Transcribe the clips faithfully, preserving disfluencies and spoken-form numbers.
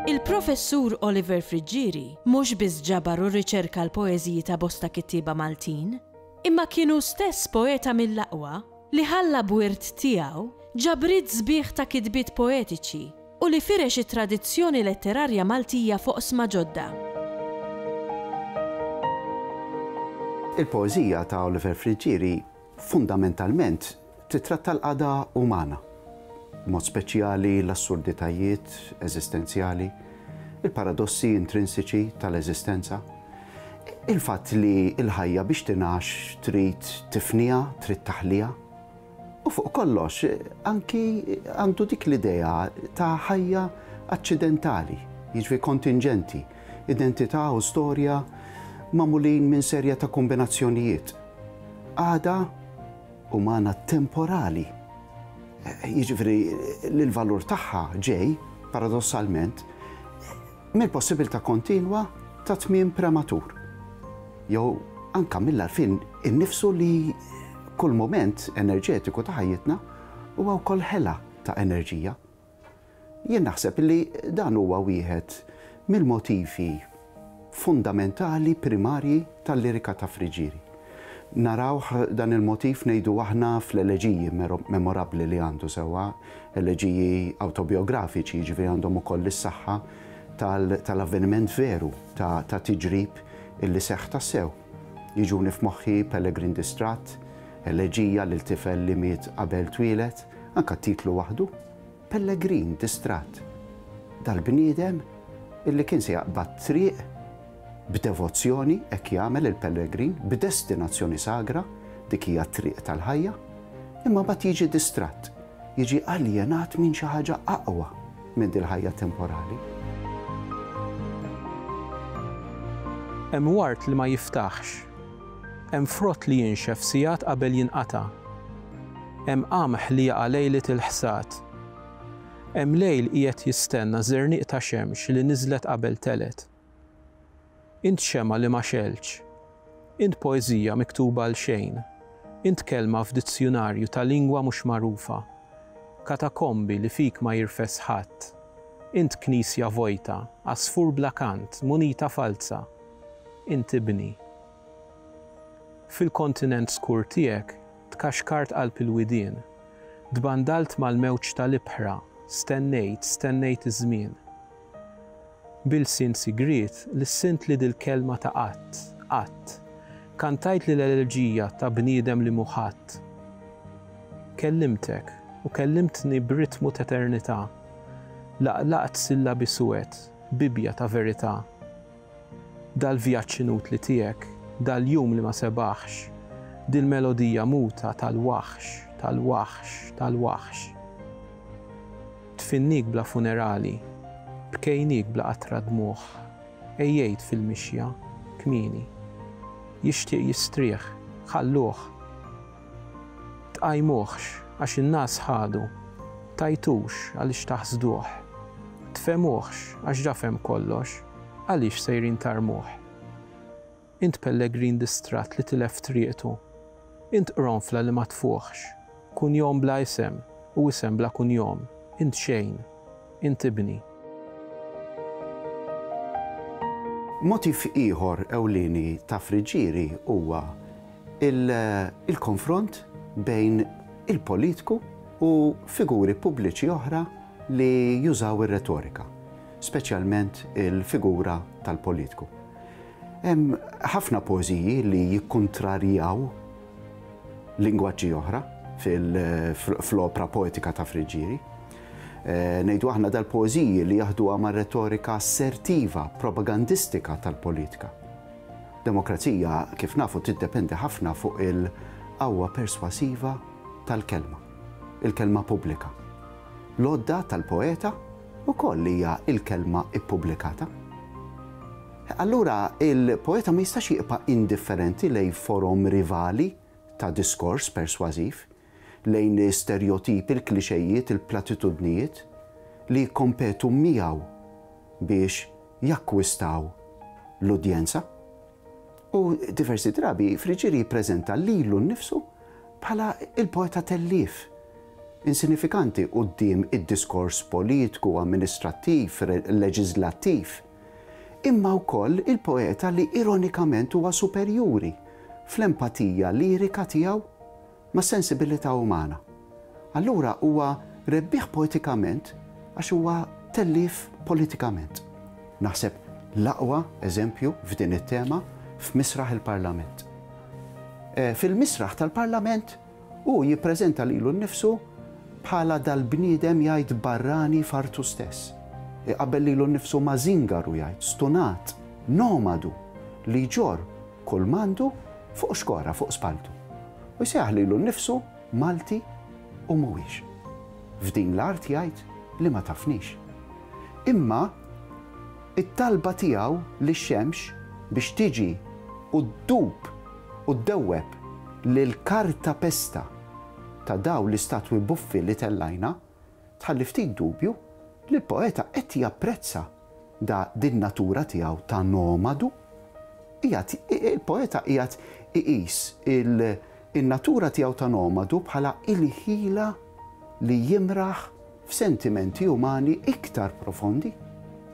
Il-Professur Oliver Friggieri mhux biss ġabar u rriċerka l-poeżiji ta' bosta kittieba Maltin, imma kien hu stess poeta mill-aqwa li ħalla b'wirt tiegħu ġabriet sbieħ ta' kitbiet poetiċi u li firex it-tradizzjoni letterarja Maltija f'oqsma ġodda. Il-poeżija ta' Oliver Friggieri fundamentalment titratta l-qagħda umana, b'mod speċjali l-assurditajiet eżistenzjali, il-paradossi intrinsiċi tal-eżistenza, il-fatt li l-ħajja biex tingħax trid tifniha, trid taħliha, u fuq kollox anki għandu dik l-idea ta' ħajja aċċidentali, jiġifieri kontingenti, identità u storja magħmulin minn serje ta' kombinazzjonijiet. Qagħda umana temporali, jiġifieri li l-valur tagħha ġej, paradossalment, mill-possibilità kontinwa ta' tmiem prematur. Jew anka mill-għarfien innifsu li kull moment enerġetiku ta' ħajjitna huwa wkoll ħela ta' enerġija. Jien naħseb li dan huwa wieħed mill-motivi fundamentali primarji tal-lirika ta' Friggieri. Narawh dan il-motiv ngħidu aħna fl-eleġiji memorabbli li għandu sewwa, eleġiji awtobiografiċi, jiġifieri għandhom ukoll is-saħħa tal-avveniment veru ta' tiġrib illi seħħ tassew. Jiġuni f'moħħi Pellegrin Distratt, eleġija lil tifel li miet qabel twieled, anka titlu waħdu, Pellegrin Distratt. Dal-bniedem illi kien se jaqbad triq b'devozzjoni, hekk jagħmel il-pellegrin, b'destinazzjoni sagra, dik hija t-triq tal-ħajja, imma mbagħad jiġi distratt, jiġi aljenat minn xi ħaġa aqwa minn dil-ħajja temporali. Hemm wart li ma jiftaħx, hemm frott li jinxef sigħat qabel jinqata', hemm qamħ li jaqa' lejlet il-ħsad, hemm lejl qiegħed jistenna żerniq ta' xemx li niżlet qabel telet. Int xema li ma xelx, int poeżija miktuba għal xejn, int kelma f'dizzjunarju ta' lingwa mhux magħrufa, katakombi li fik ma jirfes ħadd, int knisja vojta, għasfur bla kant, munita falza, int ibni. Fil-kontinent skur tiegħek tkaxkart qalb il-widien, tbandalt mal-mewġ tal-ibħra, stennejt, stennejt iż-żmien. Bil-sin sigriet lissint li dil-kelma ta' qatt, qatt, kantajt li l-eleġija ta' bniedem li muħadd. Kellimtek u kellimtni b'ritmu t'eternità, laqlaqt sillabi suwed, bibja ta' verità. Dal-vjaġġ inutli tiegħek, dal-jum li ma sebaħx, dil-melodija muta tal-waħx, tal-waħx, tal-waħx. Tfinnik bla funerali, bkejnik bla qatra dmuħ, ejjejt fil-mixja, kmieni. Jixtieq jistrieħ, ħalluh. Tqajmuhx għax in-nas ħadu, tajtux għaliex taħsduh. Tfemuhx għax ġa fhem kollox, għaliex sejrin tarmuh. Int pellegrin distratt li tilef triqtu, int qronfla li ma tfuħx, kunjom bla isem u isem bla kunjom, int xejn, int ibni. Motiv ieħor ewlieni ta' Friggieri huwa il-konfront bejn il-politiku u figuri pubbliċi oħra li jużaw ir-retorika, speċjalment il-figura tal-politiku. Hemm ħafna poeżiji li jikkontrarjaw lingwaġġi oħra fl-opra poetika ta' Friggieri. Ngħidu aħna dal-poeżiji li jaħduha ma' retorika assertiva, propagandistika tal-politika. Demokrazija, kif nafu, tiddependi ħafna fuq il-qawwa perswasiva tal-kelma, il-kelma pubblika. L-għodda tal-poeta ukoll hija il-kelma ippubblikata. Allura il-poeta ma jistax jibqa' indifferenti lejn forom rivali ta' diskors persważiv, lejn stereotipi, il-klixejiet, il-platitudnijiet li jikkompetu miegħu biex jakkwistaw l-udjenza. U diversi drabi Friggieri jippreżenta lilu nnifsu bħala il-poeta tellief, insinifikanti quddiem id-diskors politiku, amministrattiv, leġislattiv, imma wkoll il-poeta li ironikament huwa superjuri fl-empatija lirika tiegħu mas-sensibilità umana. Allura huwa rebbieħ poetikament għax huwa tellief politikament. Naħseb l-aqwa eżempju f'din it-tema f'Misraħ il-Parlament. Fil-Misraħ tal-Parlament hu jippreżenta lilu nnifsu bħala dal-bniedem jgħid barrani fartu stess. Iqabbel lilu nnifsu ma' zingaru jgħid, stunat, nomadu, li jġorr kull m'għandu fuq xkora, fuq spaltu. U jsejjaħ lilu nnifsu Malti u mhuwiex. F'din l-art jgħid li ma tafnix. Imma it-talba tiegħu lix-xemx biex tiġi u ddub u ddewweb lil karta pesta ta' daw l-istatwi buffi li tellajna, tħalli ftit dubju li l-poeta qed japprezza da din natura tiegħu ta' nomadu. Il-poeta qiegħed iqis il-natura tiegħu ta' nomadu bħala il-ħila li jimraħ f'sentimenti umani iktar profondi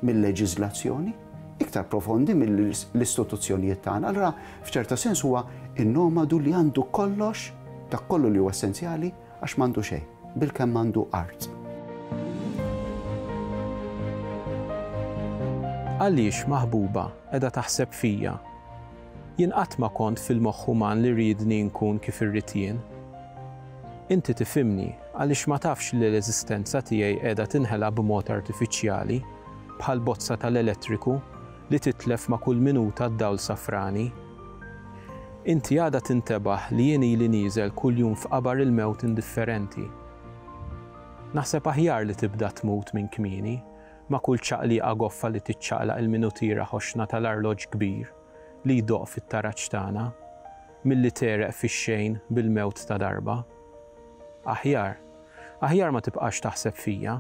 mill-leġiżlazzjoni, iktar profondi mill-istituzzjonijiet tagħna. Allura f'ċerta sens huwa in-nomadu li għandu kollox, dak kollu li huwa essenzjali għax m'għandu xejn, bilkemm għandu art. Għaliex maħbuba qiegħda taħseb fija? Jien qatt ma kont fil-moħħ uman li rridni nkun kif irrid jien. Inti tifhimni għaliex ma tafx li l-eżistenza tiegħi qiegħda tinħela b'mod artifiċjali bħal bozza tal-elettriku li titlef ma' kull minuta d-dawl safrani. Inti għada tintebaħ li jien ili nieżel kuljum f'qabar il-mewt indifferenti. Naħseb aħjar li tibda tmut minn kmieni ma' kull ċaqliqa goffa li tiċċaqlaq il-minutiera ħoxna tal-arloġġ kbir li jdoq fit-taraġ tagħna, milli tereq fix-xejn bil-mewt ta' darba. Aħjar, aħjar ma tibqax taħseb fija.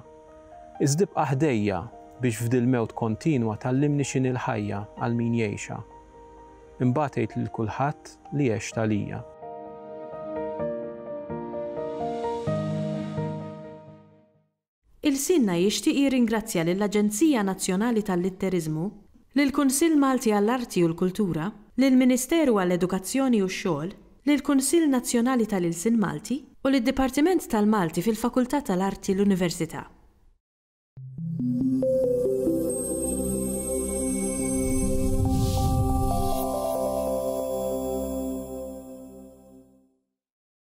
Iżda ibqa' ħdejja biex f'dil-mewt kontinwa tallimni x'inhi l-ħajja għal min jgħixha. Imbagħad għid lil kulħadd li għext għalija. Il-Sinna jixtieq jirringrazzja lill-Aġenzija Nazzjonali tal-Litteriżmu, lill-Kunsill Malti għall-Arti u l-Kultura, lill-Ministeru għall-Edukazzjoni u x-Xogħol, lill-Kunsill Nazzjonali tal-Ilsien Malti u lid-Dipartiment tal-Malti fil-Fakultà tal-Arti l-Università.